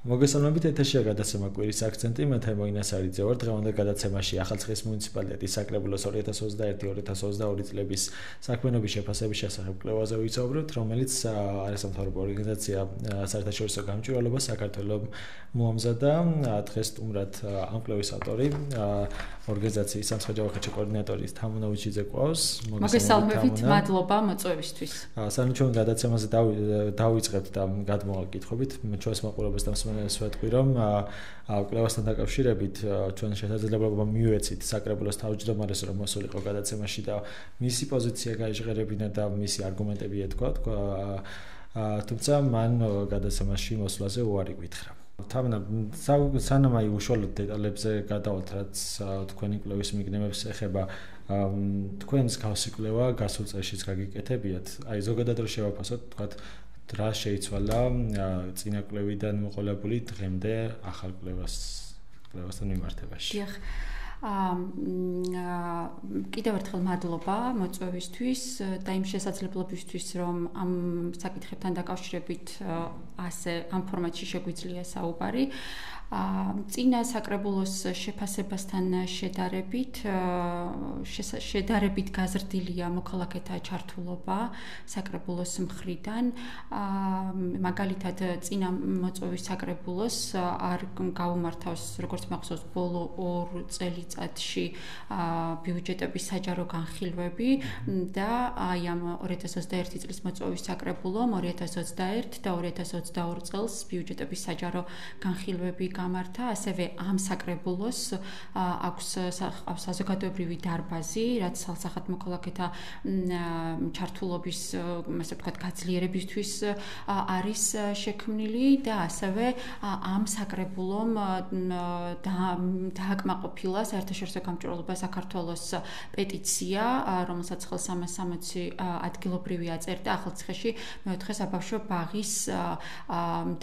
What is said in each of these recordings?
მოგესალმებით ეთერშია გადაცემა კვირის აქცენტი, მე თემოინას არიძე ვარ. დღევანდელ გადაცემაში ახალციხის მუნიციპალიტეტის საკრებულოს 2021-2022 წლების საქმიანობის შეფასების შესახებ კვლევაზე ვისაუბრებთ, რომელიც არასამთავრობო ორგანიზაცია საერთაშორისო გამჭვირვალობას საქართველოს მოამზადა. დღეს სტუმრად ამ კვლევის ავტორი, ორგანიზაციის სამხედრო ხარჯი კოორდინატორი თამუნა უჩიძე ყავს. მოგესალმებით, მადლობა მოწვევისთვის. სანამ ჩვენ გადაცემაზე დავიწყებთ და გადმოვალ კითხვებით, ჩვენს მაყურებელს დამსვენელს ვეთქვი, რომ კვლევასთან დაკავშირებით ჩვენ შესაძლებლობა მივეცით საკრებულოს თავმჯდომარეს, რომ მოსულიყო გადაცემაში და მისი პოზიცია გაიჟღერებინა და მისი არგუმენტები ეთქვა. თუმცა მან გადაცემაში მოსვლაზე უარი გითხრა. სანამ უშუალოდ დეტალებზე გადავალთ, რაც თქვენი კვლევის მიგნებებს ეხება, თქვენს გავსი კვლევა გასულ წელშიც გაგიკეთებიათ. ზოგადად რო შევაფასოთ, თქვათ რა შეიცვალა წინა კვლევიდან მოყოლებული დღემდე ახალ კვლევასთან მიმართებაში. დიახ. კიდევ ერთხელ მადლობა მოწვევისთვის და იმ შესაძლებლობისთვის, რომ ამ საკითხებთან დაკავშირებით ასე ამ ფორმატში შეგვიძლია საუბარი. წინა საკრებულოს შეფასებასთან შედარებით გაზრდილია მოქალაქეთა ჩართულობა საკრებულოს მხრიდან. მაგალითად, წინა მოწვევის საკრებულოს არ გაუმართავს, როგორც მახსოვს, ბოლო 2 წელიწადში ბიუჯეტების საჯარო განხილვები და აი ამ 2021 წლის მოწვევის საკრებულომ 2021 და 2022 წელს ბიუჯეტების საჯარო განხილვები გამართა, ასევე ამ საკრებულოს აქვს საზოგადოებრივი დარბაზი, რაც სალსახად მოქალაქეთა ჩართულობის, ასე ვთქვათ, გაძლიერებისთვის არის შექმნილი და ასევე ამ საკრებულომ დააკმაყოფილა საერთაშორისო გამჭვირვალობა საქართველოს პეტიცია, რომელსაც ხელს 360 ადგილობრივი აწერდა ახალციხეში მეოთხე საბავშვო ბაღის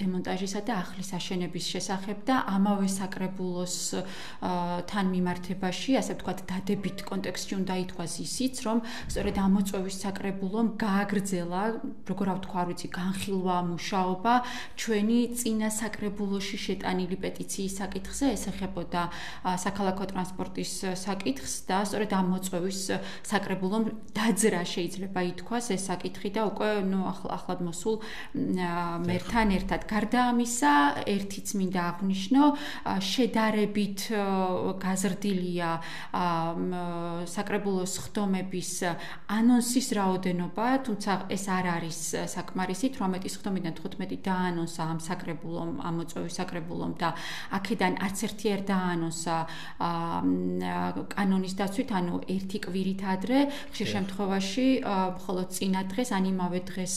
დემონტაჟისა და ახლის აშენების შესახებ და ამავე საკრებულოს თან მიმართებაში, ასე ვთქვათ, დადებით კონტექსტში უნდა ითქვას ისიც, რომ სწორედ ამ მოწვევის საკრებულომ გააგრძელა, როგორ ვთქვა, არ ვიცი, განხილვა, მუშაობა ჩვენი წინა საკრებულოში შეტანილი პეტიციის საკითხზე, ეს ეხებოდა საქალაქო ტრანსპორტის საკითხს და სწორედ ამ მოწვევის საკრებულომ დაძრა შეიძლება ითქვას ეს საკითხი და უკვე ახლად მოსულ მერთან ერთად. გარდა ამისა, ერთიც მინდა აღნიშნო, შედარებით გაზრდილია საკრებულოს ხდომების ანონსის რაოდენობა, თუმცა ეს არ არის საკმარისი, 18 ხდომიდან 15 დაანონსა ამ საკრებულომ, ამ მოწვევის საკრებულომ და აქედან არც ერთი არ დაანონსა კანონის დაცვით, ანუ ერთი კვირით ადრე, ხშირ შემთხვევაში მხოლოდ წინა დღეს, ან იმავე დღეს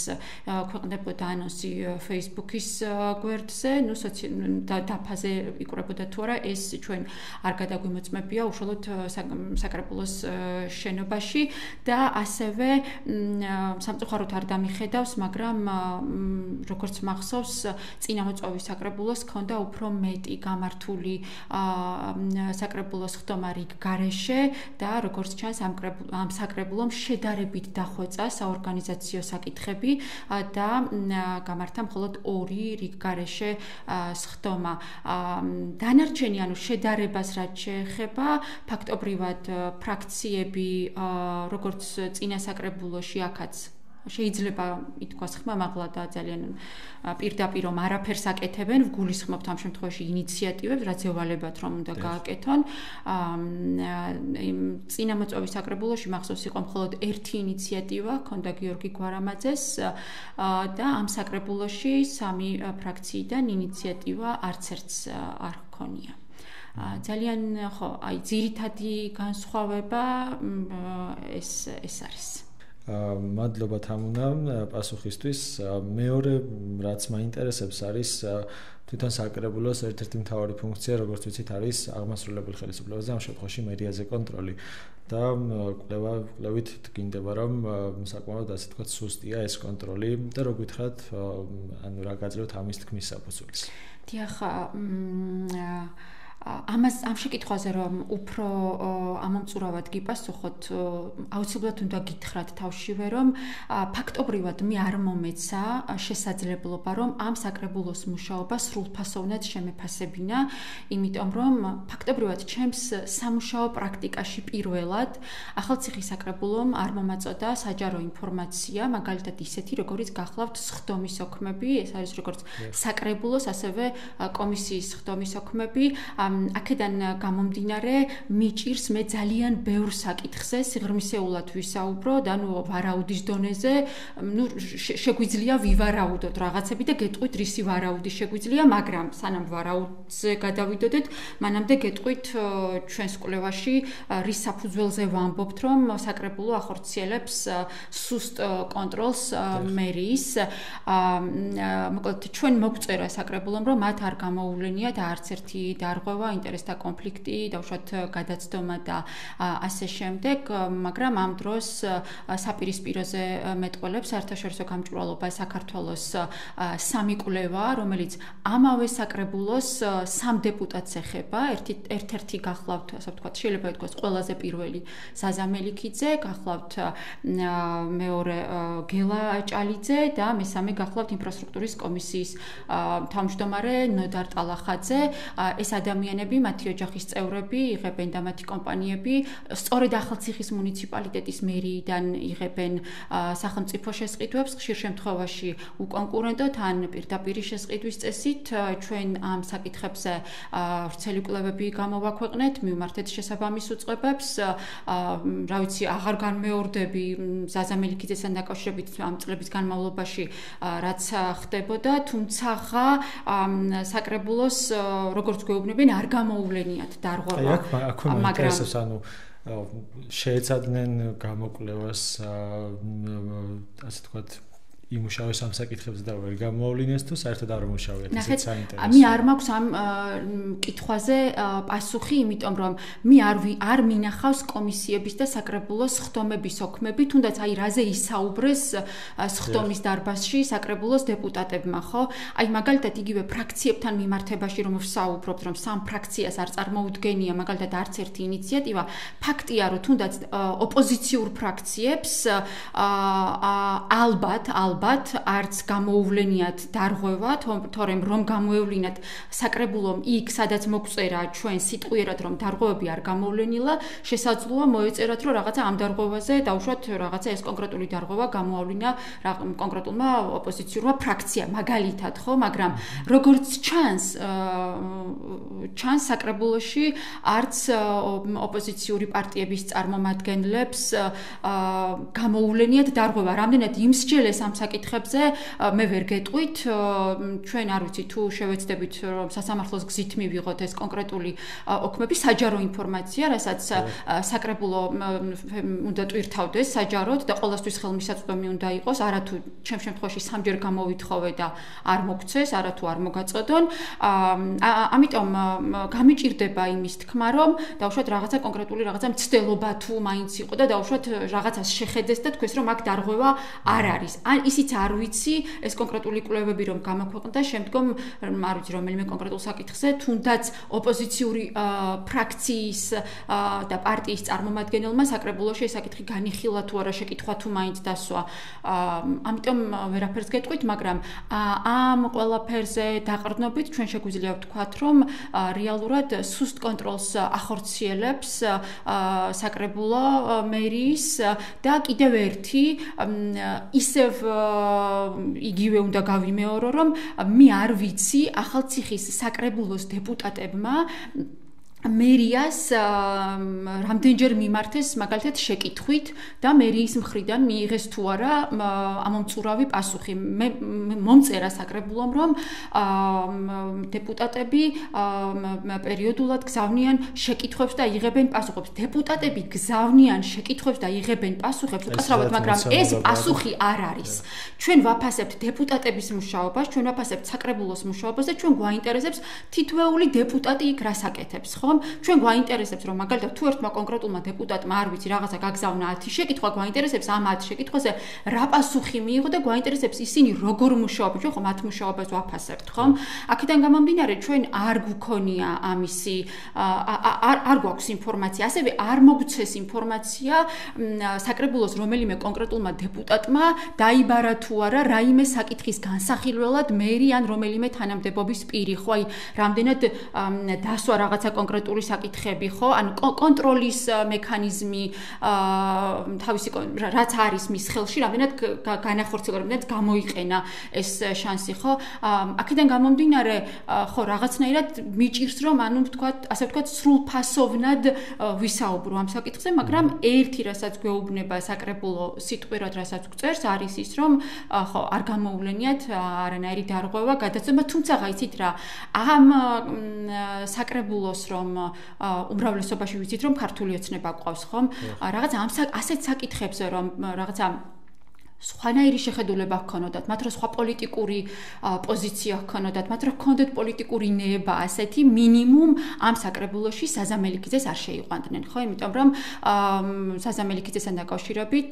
ქვეყნდებოდა ანონსი Facebook-ის გვერდზე, დაფაზე იკვრებოდა თუ არა, ეს ჩვენ არ გადაგვიმოწმებია უშუალოდ საკრებულოს შენობაში და ასევე სამწუხაროდ არ დამიხედავს, მაგრამ როგორც მახსოვს, წინა მოწვევის საკრებულოს ჰქონდა უფრო მეტი გამართული საკრებულოს ხდომა რიგ გარეშე და როგორც ჩანს ამ საკრებულომ შედარებით დახვეწა საორგანიზაციო საკითხები და გამართა მხოლოდ 2 რიგ გარეშე ხდომა. დანარჩენი, ანუ შედარებას რაც შეეხება, ფაქტობრივად ფრაქციები, როგორც წინა საკრებულოში აქაც შეიძლება ითქვას ხმამაღლა და ძალიან პირდაპირ რომ არაფერს აკეთებენ, ვგულისხმობთ ამ შემთხვევაში ინიციატივებს, რაც ევალებათ რომ უნდა გააკეთონ. წინა მოწვევის საკრებულოში მახსოვს იყო მხოლოდ ერთი ინიციატივა, ჰქონდა გიორგი გვარამაძეს და ამ საკრებულოში 3 ფრაქციიდან ინიციატივა არც ერთს არ ჰქონია. ძალიან ძირითადი განსხვავება ეს არის. მადლობა თამუნა პასუხისთვის. მეორე რაც მაინტერესებს არის თვითონ საკრებულოს ერთ-ერთი მთავარი ფუნქცია, როგორც ვიცით, არის აღმასრულებელი ხელისუფლებაზე, ამ შემთხვევაში მერიაზე კონტროლი და კვლევით გინდება, რომ საკმაოდ ასე თქვა სუსტია ეს კონტროლი და რო გითხრათ, ანუ რა გაძლევთ ამის თქმის საფუძველს. დიახ, ამ შეკითხვაზე რომ უფრო ამომწურავად გიპასუხოთ, აუცილებლად უნდა გითხრათ თავშივე, რომ ფაქტობრივად მე არ მომეცა შესაძლებლობა, რომ ამ საკრებულოს მუშაობა სრულფასოვნად შემეფასებინა, იმიტომ რომ ფაქტობრივად ჩემს სამუშაო პრაქტიკაში პირველად ახალციხის საკრებულომ არ მომაწოდა საჯარო ინფორმაცია, მაგალითად ისეთი, როგორიც გახლავთ სხდომის ოქმები, ეს არის როგორც საკრებულოს, ასევე კომისიის სხდომის ოქმები. აქედან გამომდინარე მიჭირს მე ძალიან ბევრ საკითხზე სიღრმისეულად ვისაუბროთ, ანუ ვარაუდის დონეზე, შეგვიძლია ვივარაუდოთ რაღაცები და გეტყვით რისი ვარაუდი შეგვიძლია, მაგრამ სანამ ვარაუდზე გადავიდოდეთ, მანამდე გეტყვით ჩვენს კვლევაში რის საფუძველზე ვამბობთ, რომ საკრებულო ახორციელებს სუსტ კონტროლს მერიის. მოკლედ ჩვენ მოგწერა საკრებულომ, რომ მათ არ გამოუვლენიათ არც ერთი დარღვევა, ინტერესთა კონფლიქტი, დავუშვათ გადაცდომა და ასე შემდეგ, მაგრამ ამ დროს საპირისპიროზე მეტყველებს საერთაშორისო გამჭვირვალობა საქართველოს სამი კვლევა, რომელიც ამავე საკრებულოს სამ დეპუტატს ეხება, ერთ-ერთი გახლავთ, ასე ვთქვათ, შეიძლება ითქვას ყველაზე პირველი ზაზა მელიქიძე, გახლავთ მეორე გელა ჭალიძე და მესამე გახლავთ ინფრასტრუქტურის კომისიის თავმჯდომარე ნოდარ ტალახაძე. ეს ადამიანები, მათი ოჯახის წევრები იღებენ და მათი კომპანიები სწორედ ახალციხის მუნიციპალიტეტის მერიიდან იღებენ სახელმწიფო შესყიდვებს, ხშირ შემთხვევაში უკონკურენტოდ ან პირდაპირი შესყიდვის წესით. ჩვენ ამ საკითხებზე ვრცელი კვლევები გამოვაქვეყნეთ, მივმართეთ შესაბამის უწყებებს. რა ვიცი, აღარ განმეორდები ზაზა მელიქიძესთან დაკავშირებით ამ წლების განმავლობაში რაც ხდებოდა, თუმცა საკრებულოს როგორც გვეუბნებიან, არ გამოუვლენიათ დარღვევა. მაგრამ ანუ შეეცადნენ გამოკვლევას, ასე ვთქვათ, იმუშავეს ამ საკითხებზე და ვერ გამოავლინეს თუ საერთოდ არ მუშავიათ, ესეც საინტერესოა. მე არ მაქვს ამ კითხვაზე პასუხი, იმიტომ რომ მე არ მინახავს კომისიების და საკრებულოს სხდომების ოქმები, თუნდაც აი რაზე ისაუბრეს სხდომის დარბაზში საკრებულოს დეპუტატებმა, ხო? აი მაგალითად იგივე ფრაქციებთან მიმართებაში რომ ვსაუბრობთ, რომ სამ ფრაქციას არ წარმოუდგენია მაგალითად არც ერთი ინიციატივა, ფაქტია, რომ თუნდაც ოპოზიციურ ფრაქციებს ალბათ არც გამოუვლენიათ დარღვევა, თორემ რომ გამოევლინათ საკრებულომ იქ, სადაც მოგწერა ჩვენ სიტყვიერად, რომ დარღვევები არ გამოვლენილა, შესაძლოა მოეწერათ, რომ რაღაცა ამ დარღვევაზე დავუშვათ რაღაცა ეს კონკრეტული დარღვევა გამოავლინა კონკრეტულმა ოპოზიციურმა ფრაქციამ, მაგალითად, ხო, მაგრამ როგორც ჩანს საკრებულოში არც ოპოზიციური პარტიების წარმომადგენლებს გამოუვლენიათ დარღვევა. რამდენად იმსჯელეს ამ საკითხებზე მე ვერ გეტყვით, ჩვენ არ ვიცი თუ შევეცდებით რომ სასამართლოს გზით მივიღოთ ეს კონკრეტული ოქმები, საჯარო ინფორმაცია, რასაც საკრებულო უნდა ტვირთავდეს საჯაროდ და ყოველთვის ხელმისაწვდომი უნდა იყოს, არათუ ჩემ შემთხვევაში სამჯერ გამოვითხოვე და არ მოგცეს, არათუ არ მოგაწოდონ. ამიტომ გამიჭირდება იმის თქმა, რომ დავუშვათ რაღაცა კონკრეტული რაღაცა მცდელობა თუ მაინც იყო და დავუშვათ რაღაცას შეხედეს და თქვეს რომ აქ დარღვევა არ არის. ან ისიც არ ვიცი, ეს კონკრეტული კვლევები რომ გამოქვეყნდა, შემდგომ არ ვიცი რომელიმე კონკრეტულ საკითხზე, თუნდაც ოპოზიციური ფრაქციის და პარტიის წარმომადგენელმა საკრებულოში ეს საკითხი განიხილა თუ არა, შეკითხვა თუ მაინც დასვა. ამიტომ ვერაფერს გეტყვით, მაგრამ ამ ყველაფერზე დაყრდნობით ჩვენ შეგვიძლია ვთქვათ, რომ რეალურად სუსტ კონტროლს ახორციელებს საკრებულო მერიის და კიდევ ერთი ისევ იგივე უნდა გავიმეორო, რომ მე არ ვიცი ახალციხის საკრებულოს დეპუტატებმა მერიას რამდენჯერ მიმართეს მაგალითად შეკითხვით და მერიის მხრიდან მიიღეს თუ არა ამომწურავი პასუხი. მე მომწერა საკრებულომ, რომ დეპუტატები პერიოდულად გზავნიან შეკითხვებს და იღებენ პასუხებს. დეპუტატები გზავნიან შეკითხვებს და იღებენ პასუხებს, უკაცრავად, მაგრამ ეს პასუხი არ არის. ჩვენ ვაფასებთ დეპუტატების მუშაობას, ჩვენ ვაფასებთ საკრებულოს მუშაობას და ჩვენ გვაინტერესებს თითოეული დეპუტატი იქ რას აკეთებს, ხო? ხომ? ჩვენ გვაინტერესებს რომ მაგალითად თუ ერთმა კონკრეტულმა დეპუტატმა არ ვიცი რაღაცა გაგზავნა 10 შეკითხვა, გვაინტერესებს ამ 10 შეკითხვაზე რა პასუხი მიიღო და გვაინტერესებს ისინი როგორ მუშაობენ, ჩვენ ხომ მათ მუშაობას ვაფასებთ, ხომ? აქედან გამომდინარე ჩვენ არ გვქონია ამისი არ გვაქვს ინფორმაცია, ასევე არ მოგცეს ინფორმაცია საკრებულოს რომელიმე კონკრეტულმა დეპუტატმა დაიბარა თუ არა რაიმე საკითხის განსახილველად მერი ან რომელიმე თანამდებობის პირი, ხო, აი რამდენად დასვა რაღაცა კონკრეტული საკითხები, ხო, ან კონტროლის მექანიზმი თავისი რაც არის მის ხელში, რამდენად განახორციელა, რამდენად გამოიყენა ეს შანსი, ხო? აქედან გამომდინარე, ხო, რაღაცნაირად მიჭირს რომ ანუ ასე ვთქვათ სრულფასოვნად ვისაუბრო ამ საკითხზე, მაგრამ ერთი რასაც გვეუბნება საკრებულო სიტყვიერად რასაც გვწერს არის ის რომ ხო არ გამოუვლენიათ არანაირი დარღვევა გადაცემა, თუმცა იცით რა ამ საკრებულოს რომ უმრავლესობაში ვიცით რომ ქართული ოცნება გვყავს ხომ რაღაც ამ ასეთ საკითხებზე რომ რაღაცა სხვანაირი შეხედულება ჰქონოდათ, მათ რო სხვა პოლიტიკური პოზიცია ჰქონოდათ, მათ რო ჰქონდეთ პოლიტიკური ნება, ასეთი მინიმუმ ამ საკრებულოში საზამელიქიძეს არ შეიყვანდნენ, ხო? იმიტომ რომ საზამელიქიძესთან დაკავშირებით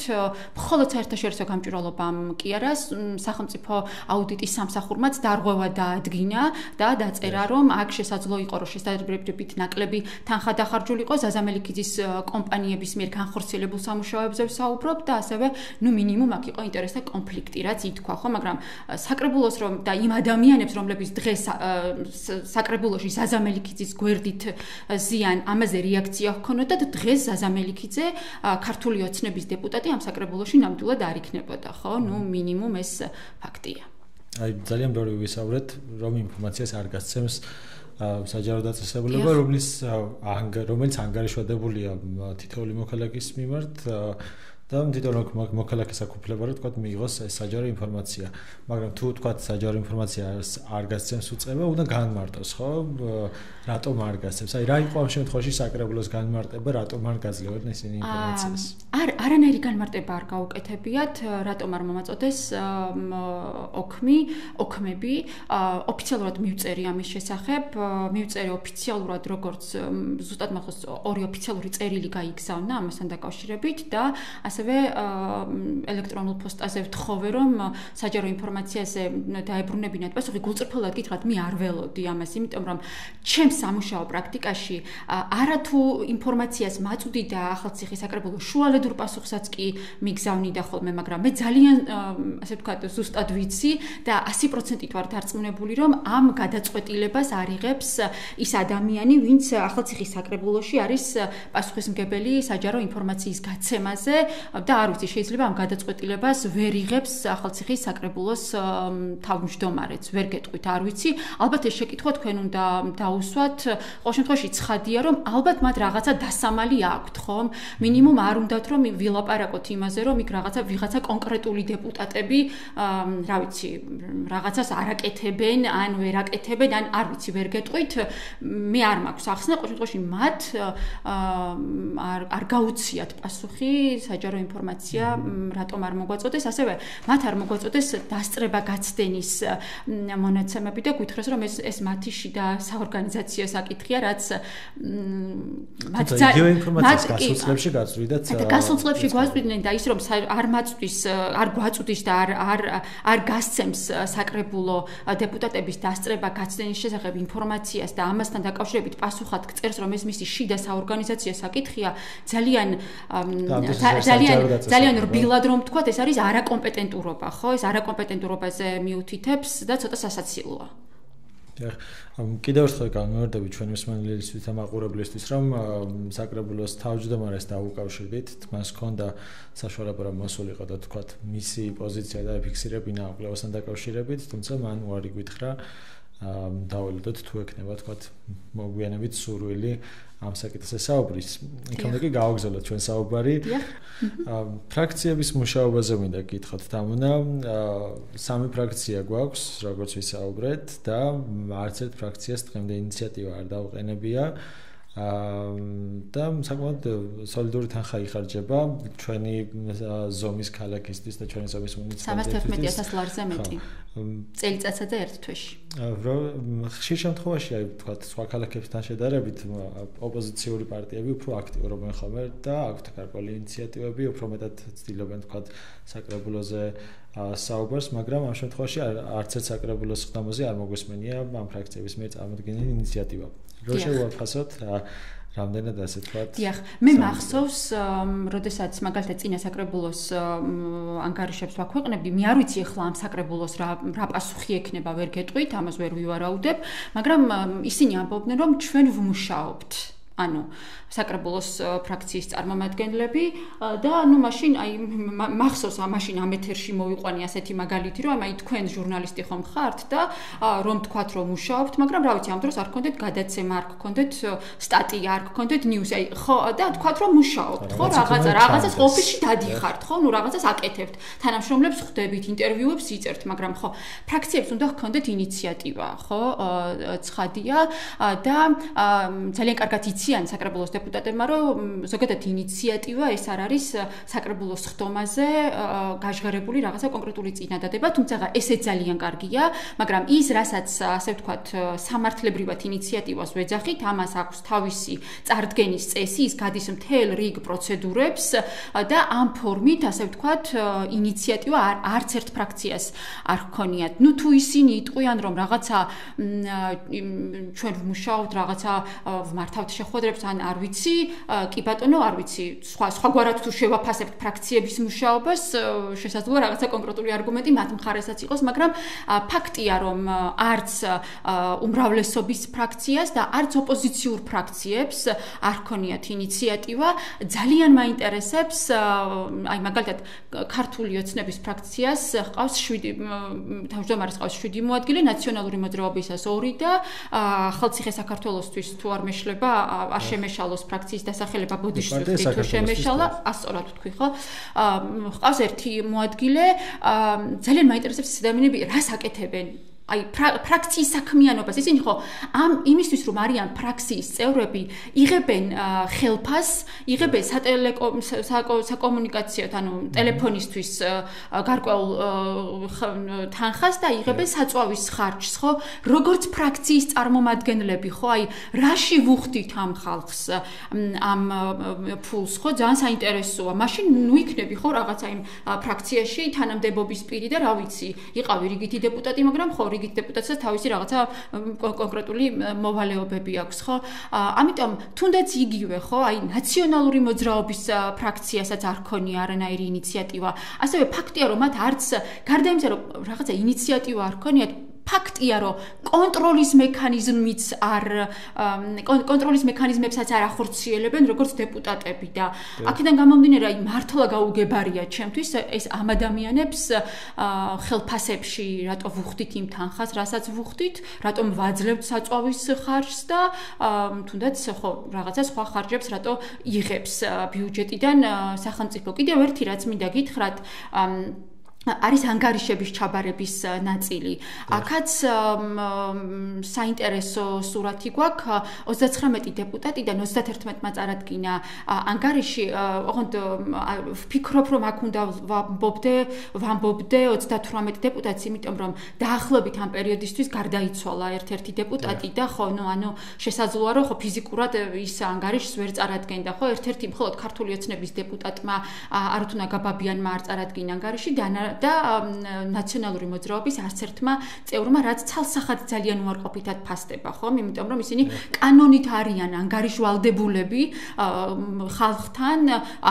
მხოლოდ საერთაშორისო გამჭვირვალობამ კი არა, სახელმწიფო აუდიტის სამსახურმაც დარღვევა დაადგინა და დაწერა, რომ აქ შესაძლო იყო, რომ შესაძლებლობით ნაკლები თანხა დახარჯულიყო, საზამელიქიძის კომპანიების მიერ განხორციელებულ სამუშაოებზე ვსაუბრობ და ასევე, ნუ მინიმუმ აქ ინტერესთა კონფლიქტი რაც ითქვა, ხო, მაგრამ საკრებულოს რომ და იმ ადამიანებს, რომლებიც დღეს საკრებულოში საზამელიქიძის გვერდით ზიან, ამაზე რეაქცია ჰქონოდათ, დღეს საზამელიქიძე ქართული ოცნების დეპუტატი ამ საკრებულოში ნამდვილად არ იქნებოდა, ხო? ნუ მინიმუმ ეს ფაქტია. აი ძალიან ბევრი ვისაუბრეთ, რომ ინფორმაციას არ გასცემს საჯარო დაწესებულება, რომელიც ანგარიშვალდებულია თითოეული მოქალაქის მიმართ და თითოეულ მოქალაქეს აკუთვნება რომ თქვა მიიღოს ეს საჯარო ინფორმაცია, მაგრამ თუ თქვა საჯარო ინფორმაცია არ გასცემს უწება, უნდა განმარტოს, ხო? რატომ არ გასცემს? აი რა იყო ამ შემთხვევაში საკრებულოს განმარტება, რატომ არ გაძლევდნენ ისინი ინფორმაციას? არანაირი განმარტება არ გაუკეთებიათ, რატომ არ მომაწოდეს ოქმები, ოფიციალურად მივწერი ამის შესახებ, მივწერი ოფიციალურად როგორც ზუსტად მახოს ორი ოფიციალური წერილი გაიგზავნა ამასთან დაკავშირებით და ასევე ელექტრონულ პოსტაზე ვთხოვე რომ საჯარო ინფორმაციაზე დაებრუნებინათ პასუხი, გულწრფელად გითხრათ, მე არ ველოდი ამას, იმიტომ რომ ჩემს სამუშაო პრაქტიკაში არათუ ინფორმაციას მაწვდი და ახალციხის საკრებულო შუალედურ პასუხსაც კი მიგზავნიდა ხოლმე, მაგრამ მე ძალიან ასე ვთქვათ ზუსტად ვიცი და 100%-ით ვარ დარწმუნებული რომ ამ გადაწყვეტილებას არიღებს ის ადამიანი, ვინც ახალციხის საკრებულოში არის პასუხისმგებელი საჯარო ინფორმაციის გაცემაზე და არ ვიცი, შეიძლება ამ გადაწყვეტილებას ვერ იღებს ახალციხის საკრებულოს თავმჯდომარეც, ვერ გეტყვით, არ ვიცი, ალბათ ეს შეკითხვა თქვენ უნდა დაუსვათ, ყოველ შემთხვევაში ცხადია რომ ალბათ მათ რაღაცა დასამალი აქვთ, ხომ? მინიმუმ არ უნდათ რომ ვილაპარაკოთ იმაზე, რომ იქ ვიღაცა კონკრეტული დეპუტატები, რა ვიცი, რაღაცას არაკეთებენ, ან ვერ აკეთებენ, ან არ ვიცი, ვერ გეტყვით, მე არ მაქვს ახსნა, ყოველ შემთხვევაში მათ არ გაუციათ პასუხი საჯარო ინფორმაცია რატომ არ მოგვაწოდეს, ასევე მათ არ მოგვაწოდეს დასწრება გაცდენის მონაცემები და გითხრას რომ ეს მათი შიდა საორგანიზაციო საკითხია, რაც მათ გასულწლებში გაწვიდათ. გასულწლებში გვაწვიდნენ და ის რომ არ გვაწვდის და არ გასცემს საკრებულო დეპუტატების დასწრება გაცდენის შესახებ ინფორმაციას და ამასთან დაკავშირებით პასუხად გწერს რომ ეს მისი შიდა საორგანიზაციო საკითხია, ძალიან რბილად რომ ვთქვათ, ეს არის არაკომპეტენტურობა, ხო? ეს არაკომპეტენტურობაზე მიუთითებს და ცოტა სასაცილოა. კიდევ ერთხელ განმარტები ჩვენი მსმენელისთვის და მაყურებლისთვის, რომ საკრებულოს თავმჯდომარეს დაუკავშირდით, მას ჰქონდა საშუალება რომ მოსულიყო და თქვათ მისი პოზიცია დააფიქსირებინა კვლევასთან დაკავშირებით, თუმცა მან უარი გითხრა დაველოდოთ თუ ექნება თქვათ მოგვიანებით სურვილი ამ საკითხზე საუბრის. იქამდე კი გავაგზავნოთ ჩვენ საუბარი. ფრაქციების მუშაობაზე მინდა გითხრათ, თამუნა, სამი ფრაქცია გვაქვს, როგორც ვისაუბრეთ და არც ერთ ფრაქციას დღემდე ინიციატივა არ დაუყენებია და საკმაოდ სოლიდური თანხა იხარჯება ჩვენი ზომის ქალაქისთვის და ჩვენი ზომის მუნიციპალიტეტისთვის 311,000 ლარზე მეტი წელიწადსა და ერთ თვეში. ხშირ შემთხვევაში აი ვთქვათ სხვა ქალაქებთან შედარებით ოპოზიციური პარტიები უფრო აქტიურობენ ხოლმე და აქვთ გარკვეული ინიციატივები, უფრო მეტად ცდილობენ ვთქვათ საკრებულოზე საუბარს, მაგრამ ამ შემთხვევაში არც ერთ საკრებულოს ხდომაზე არ მოგვისმენია ამ ფრაქციების მიერ წარმოქმნილი ინიციატივა. რო შევაფასოთ რამდენად ასე ვთქვათ. დიახ, მე მახსოვს, როდესაც მაგალითად წინა საკრებულოს ანგარიშებს ვაქვეყნებდი, მე არ ვიცი ახლა ამ საკრებულოს რა პასუხი ექნება, ვერ გეტყვით, ამას ვერ ვივარაუდებ, მაგრამ ისინი ამბობდნენ, რომ ჩვენ ვმუშაობთ. ანუ საკრებულოს ფრაქციის წარმომადგენლები და ნუ მაშინ აი მახსოვს მაშინ ამ ეთერში მოვიყვანი ასეთი მაგალითი რომ აი თქვენ ჟურნალისტი ხომ ხართ და რომ თქვათ რომ მუშაობთ მაგრამ რა ვიცი ამ დროს არ გქონდეთ გადაცემა არ გქონდეთ სტატია არ გქონდეთ ნიუსი აი ხო და თქვათ რომ მუშაობთ ხო რაღაცას ოფისში დადიხართ ხო ნუ რაღაცას აკეთებთ თანამშრომლებს ხვდებით ინტერვიუებს იწერთ მაგრამ ხო ფრაქციებს უნდა გქონდეთ ინიციატივა ხო ცხადია და ძალიან კარგად იციან საკრებულოს დეპუტატებმა რომ ზოგადად ინიციატივა ეს არ არის საკრებულოს ხდომაზე გაჟღერებული რაღაცა კონკრეტული წინადადება, თუმცა ესეც ძალიან კარგია, მაგრამ ის რასაც ასე ვთქვათ სამართლებრივად ინიციატივას ვეძახით, ამას აქვს თავისი წარდგენის წესი, ის გადის მთელ რიგ პროცედურებს და ამ ფორმით ასე ვთქვათ ინიციატივა არც ერთ ფრაქციას არ ჰქონიათ. ნუ თუ ისინი იტყვიან რომ რაღაცა ჩვენ ვმუშაობთ, რაღაცა ვმართავთ შეხვედრებს ან არ ვიცი, კი ბატონო, არ ვიცი, სხვაგვარად თუ შევაფასებთ ფრაქციების მუშაობას, შესაძლოა რაღაცა კონკრეტული არგუმენტი მათ მხარესაც იყოს, მაგრამ ფაქტია, რომ არც უმრავლესობის ფრაქციას და არც ოპოზიციურ ფრაქციებს არ ჰქონიათ ინიციატივა, ძალიან მაინტერესებს, აი მაგალითად, ქართული ოცნების ფრაქციას ჰყავს 7 თავმჯდომარეს ჰყავს 7 მოადგილე, ნაციონალური მოძრაობისას 2 და ხალხი საქართველოსთვის თუ არ მეშლება, არ შემეშალოს ფრაქციის დასახელება ბოდიშვილის თუ შემეშალა, ასწორად ვთქვი, ხო? ჰყავს ერთი მოადგილე, ძალიან მაინტერესებს ეს ადამიანები რას აკეთებენ. აი ფრაქციის საქმიანობას ისინი ხო ამ იმისთვის რომ არიან ფრაქციის წევრები იღებენ ხელფას, იღებენ საკომუნიკაციო ანუ ტელეფონისთვის გარკვეულ თანხას და იღებენ საწვავის ხარჯს, ხო? როგორც ფრაქციის წარმომადგენლები, ხო? აი რაში ვუხდით ამ ხალხს ამ ფულს, ხო? ძალიან საინტერესოა. მაშინ ნუ იქნები ხო რაღაცა იმ ფრაქციაში თანამდებობის პირი და რა ვიცი, იყავი რიგითი დეპუტატი, მაგრამ ხო რიგით დეპუტატსაც თავისი რაღაცა კონკრეტული მოვალეობები აქვს, ხო? ამიტომ თუნდაც იგივე, ხო? აი ნაციონალური მოძრაობის ფრაქციასაც არ ქონია არანაირი ინიციატივა. ასევე ფაქტია, რომ მათ არც გარდა იმისა, რომ რაღაცა ინიციატივა არ ქონიათ, ფაქტია, რომ კონტროლის მექანიზმიც კონტროლის მექანიზმებსაც არ ახორციელებენ როგორც დეპუტატები და აქედან გამომდინარე, აი მართლა გაუგებარია ჩემთვის ეს ამ ადამიანებს ხელფასებში რატო ვუხდით იმ თანხას, რასაც ვუხდით, რატომ ვაძლევთ საწვავის ხარჯს და თუნდაც ხო რაღაცა სხვა ხარჯებს რატო იღებს ბიუჯეტიდან სახელმწიფო. კიდევ ერთი რაც მინდა გითხრათ, არის ანგარიშების ჩაბარების ნაწილი. აქაც საინტერესო სურათი გვაქვს 39 დეპუტატიდან 31-მა წარადგინა ანგარიში. ოღონდ ვფიქრობ, რომ აქ უნდა ვამბობდე 38 დეპუტატს, იმიტომ რომ დაახლოებით ამ პერიოდისთვის გარდაიცვალა ერთ-ერთი დეპუტატი და ხო, ანუ შესაძლოა რომ ხო ფიზიკურად ის ანგარიშს ვერ წარადგენდა, ხო? ერთ-ერთი მხოლოდ ქართული ოცნების დეპუტატმა არუთუნა გაბაბიანმა არ წარადგინა ანგარიში და ნაციონალური მოძრაობის არც ერთმა წევრმა, რაც ცალსახად ძალიან უარყოფითად ფასდება, ხომ? იმიტომ რომ ისინი კანონით არიან ანგარიშვალდებულები ხალხთან,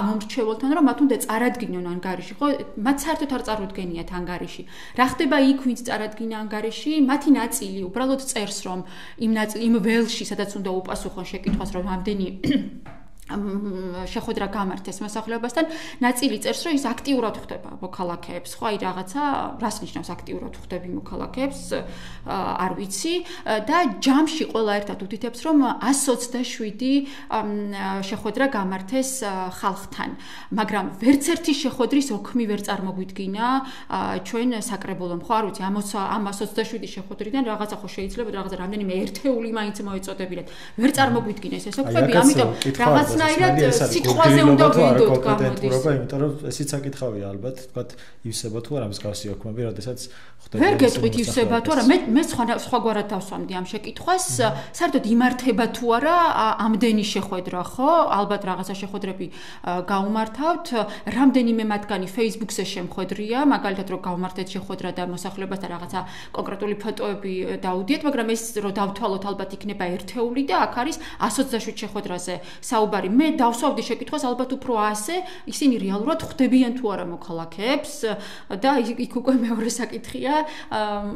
ამომრჩეველთან, რომ მათ უნდა წარადგინონ ანგარიში, ხო? მათ საერთოდ არ წარუდგენიათ ანგარიში. რა ხდება იქ, ვინც წარადგინა ანგარიში? მათი ნაწილი უბრალოდ წერს, რომ იმ ველში, სადაც უნდა უპასუხონ შეკითხვას, რომ ამდენი შეხვედრა გამართეს მოსახლეობასთან, ნაწილი წერს, რომ ის აქტიურად ხვდება მოქალაქეებს, ხო, აი რაღაცა, რას ნიშნავს აქტიურად ხვდები მოქალაქეებს, არ ვიცი, და ჯამში ყველა ერთად უთითებს, რომ 127 შეხვედრა გამართეს ხალხთან, მაგრამ ვერც ერთი შეხვედრის ოქმი ვერ წარმოგვიდგინა ჩვენ საკრებულომ, ხო, არ ვიცი, ამ 127 შეხვედრიდან რაღაცა ხო შეიძლება რაღაცა რამდენიმე ერთეული მაინც მოეწოდებინათ. ვერ წარმოგვიდგინა ეს ოქმები, ამიტომ რაღაც ნაირად სიტყვაზე უნდა ვიდოთ გამოდის. იმიტომ რომ ესეც საკითხავია ალბათ, თქვათ ივსება თუ არა მსგავსი ოქმები, როდესაც ხვდება. ვერ გეტყვით ივსება თუ არა, მე სხვაგვარად დავსვამდი ამ შეკითხვას, საერთოდ იმართება თუ არა ამდენი შეხვედრა, ხო? ალბათ რაღაცა შეხვედრები გაუმართავთ, რამდენიმე მათგანი Facebook-ზე შემხვედრია, მაგალითად რომ გავმართეთ შეხვედრა და მოსახლეობასთან რაღაცა კონკრეტული ფოტოები დაუდიეთ, მაგრამ ეს რომ დავთვალოთ ალბათ იქნება ერთეული და აქ არის 127 შეხვედრაზე საუბარი. მე დავსვავდი შეკითხვას ალბათ უფრო ასე, ისინი რეალურად ხვდებიან თუ არა მოქალაქეებს და იქ უკვე მეორე საკითხია,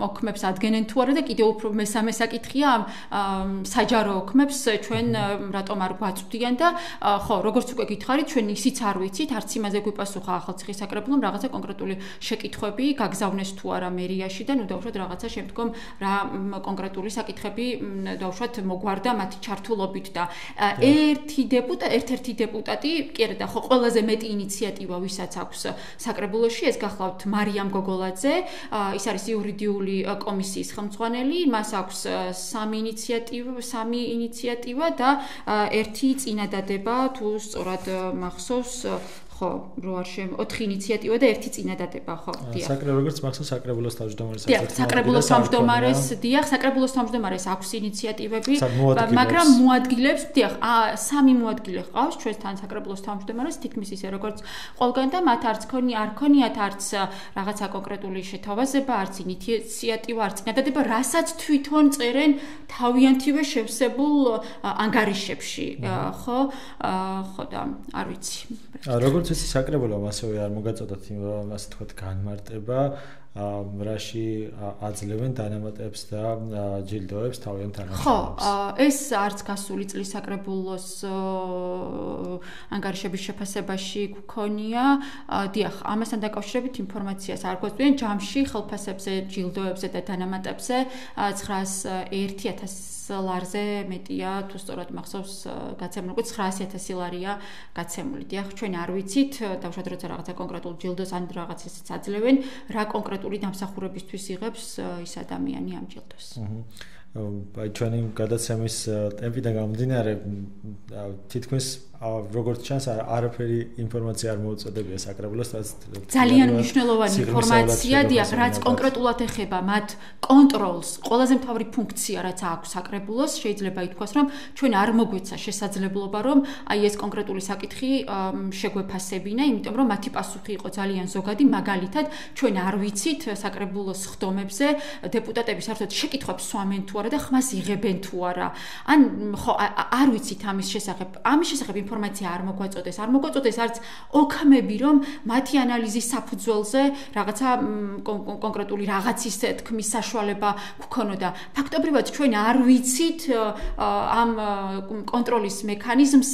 ოქმებს ადგენენ თუ არა და კიდევ უფრო მესამე საკითხია, საჯარო ოქმებს ჩვენ რატომ არ გვაწვდიან და ხო, როგორც უკვე გითხარით, ჩვენ ისიც არ ვიცით, არც იმაზე გვიპასუხა ახალციხის საკრებულომ რაღაცა კონკრეტული შეკითხვები გაგზავნეს თუ არა მერიაში და ნუ დავუშვათ რაღაცა შემდგომ რა კონკრეტული საკითხები დავუშვათ მოგვარდა მათი ჩართულობით და ერთ-ერთი დეპუტატი, კი არა და ხო ყველაზე მეტი ინიციატივა ვისაც აქვს საკრებულოში, ეს გახლავთ მარიამ გოგოლაძე, ის არის იურიდიული კომისიის ხელმძღვანელი, მას აქვს 3 ინიციატივა და 1 წინადადება, თუ სწორად მახსოვს, ხო, რო არ 4 ინიციატივა და 1 წინადადება, ხო, დიახ. როგორც მახსოვს საკრებულოს თავმჯდომარეს საკრებულოს თავმჯდომარეს, დიახ, საკრებულოს თავმჯდომარეს აქვს ინიციატივები, მაგრამ მოადგილებს, დიახ, 3 მოადგილე ყავს ჩვენთან საკრებულოს თავმჯდომარეს, თითქმის ისე როგორც ყველგან და მათ არც არ ქონიათ არც რაღაცა კონკრეტული შეთავაზება, არც ინიციატივა, არც წინადადება, რასაც თვითონ წერენ თავიანთივე შევსებულ ანგარიშებში, ხო? ხო და არ ვიცი. როგორც ეს საკრებულომ ასევე არ მოგაწოდოთ ასე თქვათ განმარტება, რაში აძლევენ დანამატებს და ჯილდოებს თავიანთ თანამშრომლებს. ხო, ეს არც გასული წლის საკრებულოს ანგარიშების შეფასებაში გქონია. დიახ, ამასთან დაკავშირებით ინფორმაციას არ გვაწვდიან ჯამში ხელფასებზე, ჯილდოებზე და დანამატებზე 901.000 ლარზე მეტია, თუ სწორად მახსოვს გაცემული, 900.000 ლარია გაცემული. დიახ, ჩვენ არ ვიცით, დავუშვათ როცა რაღაცა კონკრეტულ ჯილდოს ან რაღაც ისიც აძლევენ, რა კონკრეტული დამსახურებისთვის იღებს ის ადამიანი ამ ჯილდოს. აი ჩვენი გადაცემის ტემპიდან გამომდინარე, თითქმის როგორც ჩანს, არაფერი ინფორმაცია არ მოუწოდებია საკრებულოს, ძალიან მნიშვნელოვანი ინფორმაცია, დიახ, რაც კონკრეტულად ეხება მათ კონტროლს, ყველაზე მთავარი ფუნქცია, რაც აქვს საკრებულოს, შეიძლება ითქვას, რომ ჩვენ არ მოგვეცა შესაძლებლობა, რომ აი ეს კონკრეტული საკითხი შეგვეფასებინა, იმიტომ რომ მათი პასუხი იყო ძალიან ზოგადი, მაგალითად, ჩვენ არ ვიცით საკრებულოს ხდომებზე დეპუტატები საერთოდ შეკითხვებს სვამენ თუ არა და ხმას იღებენ თუ არა. ან ხო, არ ვიცით ამის შესახებ ინფორმაცია არ მოგვაწოდეს არც ოქმები, რომ მათი ანალიზის საფუძველზე რაღაცა კონკრეტული რაღაცის თქმის საშუალება გქონოდა. ფაქტობრივად ჩვენ არ ვიცით ამ კონტროლის მექანიზმს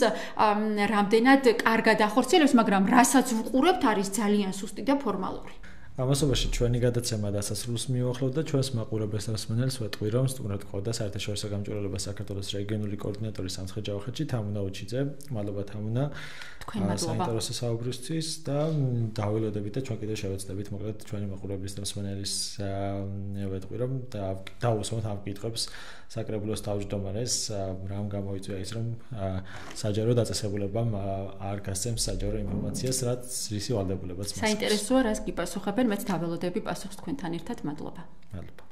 რამდენად კარგად ახორციელებს, მაგრამ რასაც ვუყურებთ არის ძალიან სუსტი და ფორმალური. ამასობაში ჩვენი გადაცემა დასასრულს მიუახლოვთ და ჩვენს მაყურებელს დასმენელს ვეტყვი, რომ სტუმრად ყავდა საერთაშორისო გამჭვირვალობა საქართველოს რეგიონული კოორდინატორი სამცხე-ჯავახეთში თამუნა უჩიძე. მადლობა თამუნა. თქვენ მადლობა. საინტერესო საუბრისთვის და დავილოდებით და ჩვენ კიდევ შევეცდებით მოკლედ ჩვენი მაყურებლის დასმენელის ვეტყვი, რომ დაუსვამთ ამ კითხვებს საკრებულოს თავმჯდომარეს, რამ გამოიწვია ის, რომ საჯარო დაწესებულებამ არ გასცემს საჯარო ინფორმაციას, რაც რისი ვალდებულებაც მას. საინტერესოა, რას გიპასუხებენ, მეც დაველოდები პასუხს თქვენთან ერთად. მადლობა. მადლობა.